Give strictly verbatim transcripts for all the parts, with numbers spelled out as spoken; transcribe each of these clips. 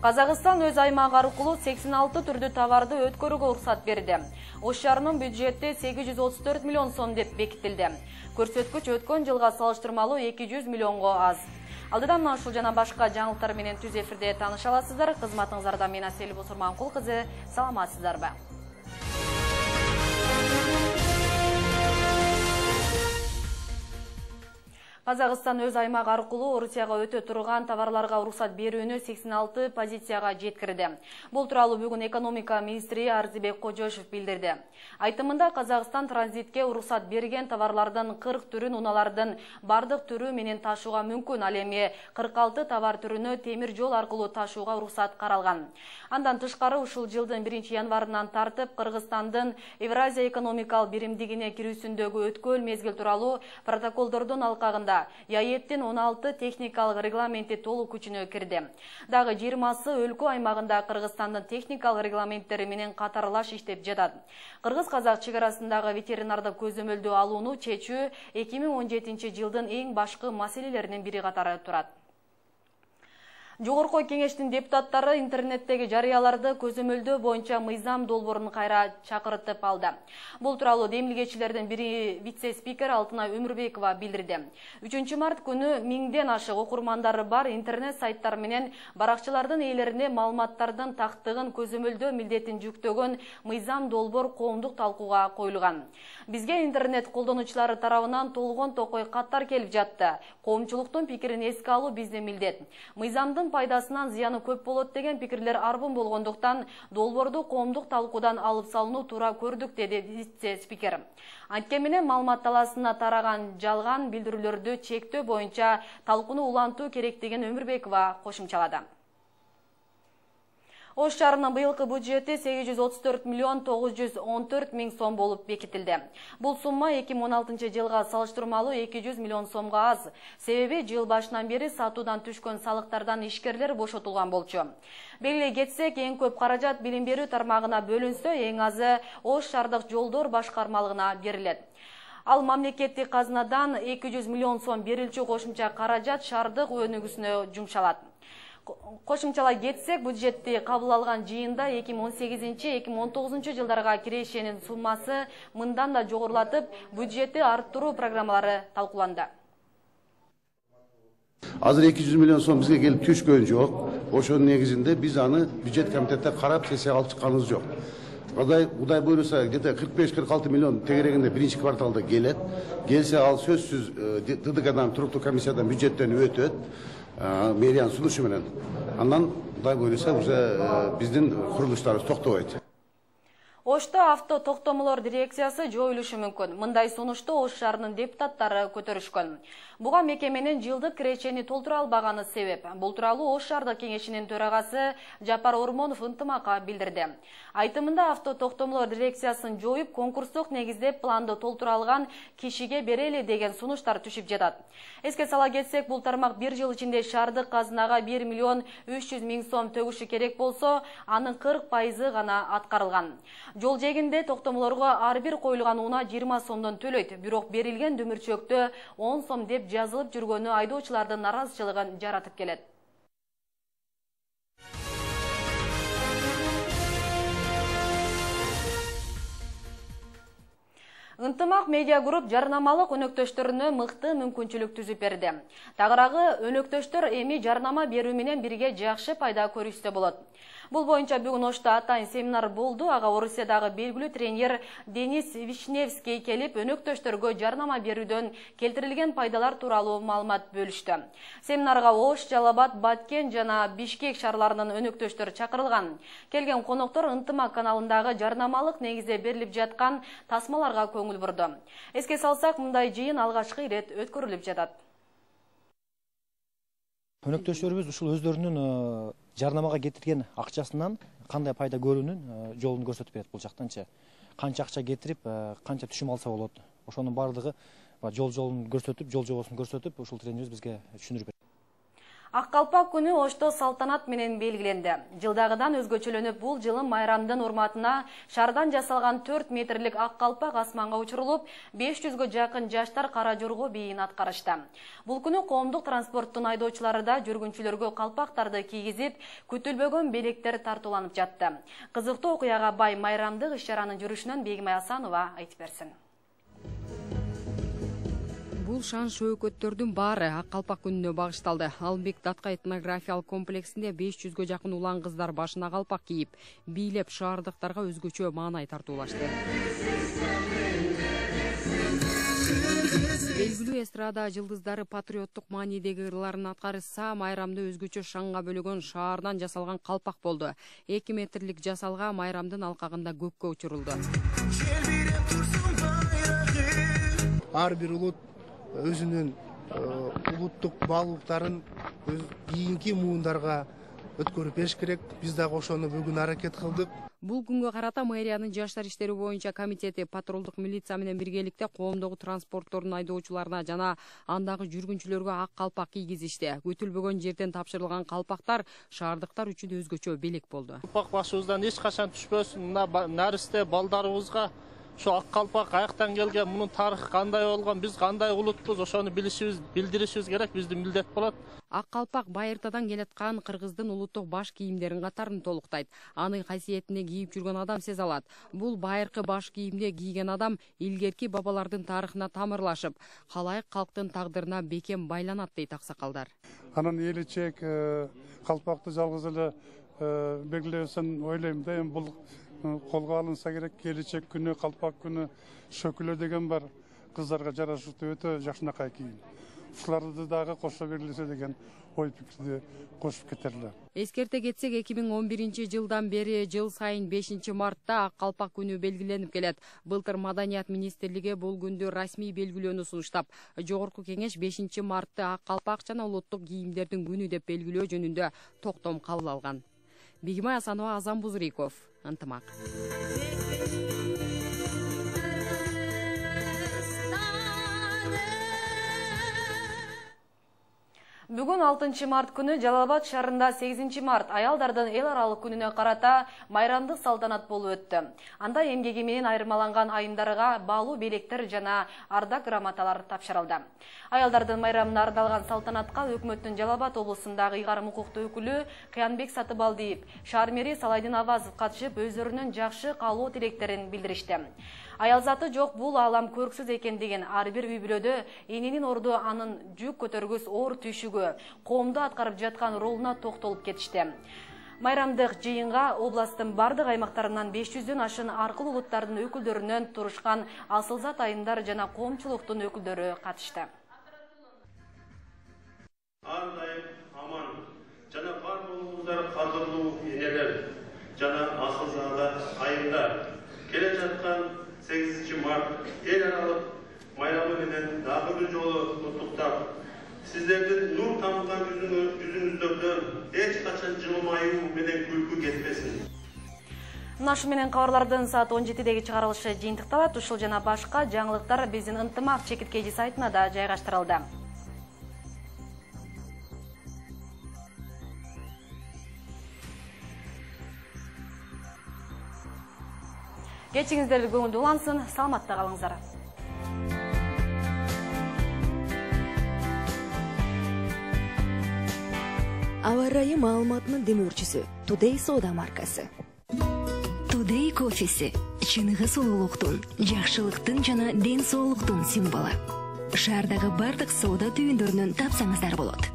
Казакстан өз аймагы аркылуу сексен алты түрдүү товарды өткөрүүгө уруксат берди. Ош шаарынын бюджети сегиз жүз отуз төрт миллион сом деп бекитилди. Көрсөткүч өткөн жылга салыштырмалуу эки жүз миллионго аз. Алдыдан мына ушул жана башка жаңылыктар менен түз эфирде тааныша аласыздар. Кызматыңыздарда мен Асель Босурманкул кызы. Саламатсыздарбы? Казакстан өз аймагы аркылуу Орусияга өтө турган товарларга уруксат берүүнү сексен алты позицияга жеткирди. Бул тууралуу бүгүн экономика министри Арзыбек Кожошев билдирди. Айтымында Казакстан транзитке уруксат берген товарлардын кырк түрүн унаалардын бардык түрү менен ташууга мүмкүн, ал эми кырк алты товар түрүнө темир жол аркылуу ташууга уруксат каралган. Андан тышкары ушул жылдын биринчи январынан тартып Кыргызстандын Евразия экономикалык биримдигине кирүүсүндөгү өткөл мезгил тууралуу протоколдордун алкагында ЯЭТтин он алты техникалык регламенти толук күчүнө кирди. Дагы жыйырмасы өлкө аймагында Кыргызстандын техникалык регламенттери менен катарлаш иштеп жатат. Кыргыз-казак чек арасындагы ветеринардык көзөмөлдөө алууну чечүү эки миң он жетинчи жылдын эң башкы маселелеринин бири катары турат. Жогорку кеңештин депутаттары интернеттеги жарыяларды көзөмөлдөө боюнча мыйзам долбоорун кайра чакыртып алды. Бул тууралуу демилгечилердин бири вице-спикер Алтынай Өмүрбекова билдирди. үчүнчү март күнү миңден ашык окурмандары бар интернет сайттар менен баракчалардын ээлерине маалыматтардын тактыгын көзөмөлдөө милдетин жүктөгөн мыйзам долбоор коомдук талкууга коюлган. Бизге интернет колдонуучулары тарабынан толгон токой каттар келип жатты. Коомчулуктун пикирин эске алуу биздин милдет. Мыйзамдын пайдасынан зыяны көп болот деген пикирлер арбын болгондуктан долбоорду коомдук талкуудан алып салууну туура көрдүк, деди вице-спикер. Анткени менен маалымат талаасына тараган жалган билдирүүлөрдү чектөө боюнча талкууну улантуу керектигин Өмүрбекова кошумчалады. Ош шаарынын быйылкы бюджети сегиз жүз отуз төрт миллион тогуз жүз он төрт миң сом болуп бекитилди. Бул сумма эки миң он алтынчы жылга салыштырмалуу эки жүз миллион сомго аз. Себеби жыл башынан бери сатуудан түшкөн салыктардан ишкерлер бошотулган болчу. Белгилей кетсек, эң көп каражат билим берүү тармагына бөлүнсө, эң азы Ош шаардык жолдор башкармалыгына берилет. Ал мамлекеттик казынадан эки жүз миллион сом берилчү кошумча каражат шаардык өнүгүүсүнө жумшалат. Кошумчалай кетсек, бюджетти кабыл алган жыйында эки миң он сегизинчи — эки миң он тогузунчу жылдарга кирешенин суммасы мындан да жогорулатып, бюджетти арттыруу программалары талкууланды. Азыр эки жүз миллион сом бизге келип түшкөн жок. Ошонун негизинде биз аны бюджет комитетте карап сессияга алып чыкканыбыз жок. Кудай Кудай буйруса, где-то кырк беш — кырк алты миллион тегерегинде биринчи кварталда келет. Келсе, ал сөзсүз ТДКдан, туруктуу комиссиядан бюджеттен өтөт. Мэриянын сунушу менен. Андан Кудай буйруса уже биздин курулуштарыбыз токтобойт. Ошто авто токтомолор дирекциясы жоюлушу мүмкүн. Мындай сунушту Ош шаарынын депутаттары көтөрүшкөн. Буга мекеменин жылдык кирешени толтура албаганы себеп. Бул тууралуу Ош шаардык кеңешинин төрагасы Жапар Ормонов ынтымакка билдирди. Айтымында авто токтомолор дирекциясын жоюп, конкурстук негизде планды толтура алган кишиге берели деген сунуштар түшүп жатат. Эске сала кетсек, бул тармак бир жыл ичинде шаардык казынага бир миллион үч жүз миң сом төгүшү керек болсо, анын кырк пайызы гана аткарылган. Жол жегинде токтомолорго ар бир коюлган унаа жыйырма сомдон төлөйт, бирок берилген дүмүрчөктө он сом деп жазылып жүргөнү айдоочулардын наразычылыгын жаратып келет. Ынтымак медиа групп жарнамалык өнөктөштөрүнө мыкты мүмкүнчүлүк түзүп берди. Тагыраагы өнөктөштөр эми жарнама берүү менен бирге жакшы пайда көрүшсө болот. Бул боюнча бүгүн Ошто атайын семинар болду. Ага Орусиядагы белгилүү тренер Денис Вишневский келип, өнөктөштөргө жарнама берүүдөн келтирилген пайдалар тууралуу маалымат бөлүштү. Семинарга Ош, Жалал Абад, Баткен жана Бишкек шаарларынын өнөктөштөрү чакырылган. Келген коноктор Ынтымак каналындагы жарнамалык негизде берилип жаткан тасмаларга көңүл бурду. Эске салсак, мындай жыйын алгачкы ирет өткөрүлүп жатат. Өнөктөштөрүбүз ушул өздөрүнүн жарнамага кетирген акчасынан кандай пайда көрүүнүн жолун көрсөтүп берет. Бул жактанчы канча акча кетирип, канча түшүм алса болот. Ошонун бардыгы жол жолун көрсөтүп, жол жобосун көрсөтүп, ушул тренерибиз бизге түшүндүрүп берет. Ак калпак күнү Ошто салтанат менен белгиленди. Жылдагыдан өзгөчөлөнүп, бул жылы майрамдын урматына шардан жасалган төрт метрлик ак калпак асманга учурулуп, беш жүзгө жакын жаштар кара жорго бийин аткарышты. Бул күнү коомдук транспорттун айдоочулары да жүргүнчүлөргө калпактарды кийгизип, күтүлбөгөн белектер тартууланып жатты. Кызыктуу окуяга бай майрамдык иш-чаранын жүрүшүнөн Бегимай Асанова айтып берсин. Бул шан шөөгөттөрдүн баары ак калпак күнүнө багышталды. Албек Датка этнографиялык комплексинде беш жүзгө жакын улан кыздар башына калпак кийип, бийлеп шаардыктарга өзгөчө маанай тартуулашты. Белгилүү эстрада жылдыздары патриоттук маанидеги ырларын аткарышса, майрамды өзгөчө шанга бөлөгөн шаардан жасалган калпак болду. эки метрлик жасалга майрамдын алкагында көккө учурулду. Ар бир улут өзүнүн улуттук баалуулуктарын кийинки муундарга өткөрүп бериш керек. Биз дагы ошону бүгүн аракет кылдык. Бул күнгө карата мэриянын жаштар иштери боюнча комитети патрулдук милиция менен биргеликте коомдогу транспорттордун айдоочуларына жана андагы жүргүнчүлөргө ак калпак кийгизишти. Күтүлбөгөн жерден тапшырылган калпактар шаардыктар үчүн өзгөчө белек болду. Калпак башыбыздан эч качан түшпөсүн. Мына наристе балдарыбызга şu ак калпак аяктан келген, мунун тарыхы кандай болгон, биз кандай улутпуз, ошону билишибиз, билдиришибиз керек, биздин милдет болот. Ак калпак байыртадан келаткан кыргыздын улуттук баш кийимдерин катарын толуктайт. Анын касиетине кийип жүргөн адам сезе алат. Бул байыркы баш кийимди кийген адам илгерки бабалардын тарыхына тамырлашып, калайык калктын тагдырына бекем байланат дейт аксакалдар. Анан эличек калпакты жалгыз эле белгилебесин ойлойм да, эми бул колго алынса керек. Келечек күнү, калпак күнү шөкүлө деген бар. Кыздарга жарашыктуу өтө жакшынакай кийим. Ушуларды дагы кошо бергилесе деген ой пикирди кошуп кетерлер. Эскерте кетсек, эки миң он биринчи жылдан бери жыл сайын бешинчи мартта ак калпак күнү белгиленип келет. Былтыр Маданият министрлиги бул күндү расмий белгилөөнү сунуштап, жогорку кеңеш бешинчи мартты ак калпак жана улуттук кийимдердин күнү деп белгилөө жөнүндө токтом кабыл алган. Бегимай Асанова, Азам Бузуриков, Ынтымак. Бүгүн алтынчы март күнү Жалал Абад шаарында сегизинчи март аялдардын эл аралык күнүнө карата майрамдык салтанат болуп өттү. Анда эмгеги менен айырмаланган айымдарга баалуу белектер жана ардак грамоталар тапшырылды. Аялдардын майрамына арналган салтанатка өкмөттүн Жалал Абад облусундагы ыйгарым укуктуу өкүлү Кыянбек Сатыбалдиев, шаар мэри Салайдын Авазов катышып, өздөрүнүн жакшы каалоо тилектерин билдиришти. Аял заты жок, бул алам көрксүз экен деген ар бир үй бүлөдө эненин орду анын жүк көтөргүс оор түйшүгү, коомдо аткарып жаткан ролуна токтолуп кетишти. Майрамдык жыйынга областтын бардык аймактарынан беш жүздөн ашын аркыл улуттардын өкүлдөрүнөн турушкан асылзат айымдар жана коомчулуктун өкүлдөрү катышты. Ар дайым аман жана бар болуңуздар кадырлуу энелер жана асылзат айымдар. Келе жаткан сегизинчи март эл аралык майрамы менен дагы бир жолу куттуктап, сиздердин нур тамган жүзүңүздөрдөн эч качан жылмаюу менен күлкү кетпесин. Нашы менен кабарлардын саат он жетидеги чыгарылышы жыйынтыкталат. Ушул жана башка жаңылыктар биздин Ынтымак чекиткеji сайтына да жайгаштырылды. Кечиңиздер көңүлдүү улансын, саламатта калыңыздар. Аба ырайы маалыматынын демөөрчүсү Today соода маркасы. Today кофеси чыныгы сулуулуктун, жакшылыктын жана ден соолуктун символу. Шаардагы бардык соода түйүндөрүнөн тапсаңыздар болот.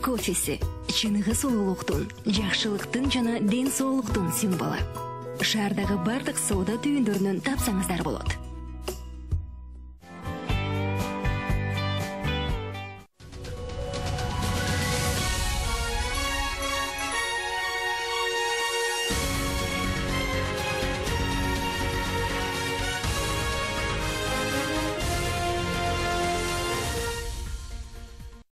кофеси чыныгы сулуулуктун, жакшылыктын жана ден соолуктун символу. Шаардагы бардык соода түйүндөрүнөн тапсаңыздар болот.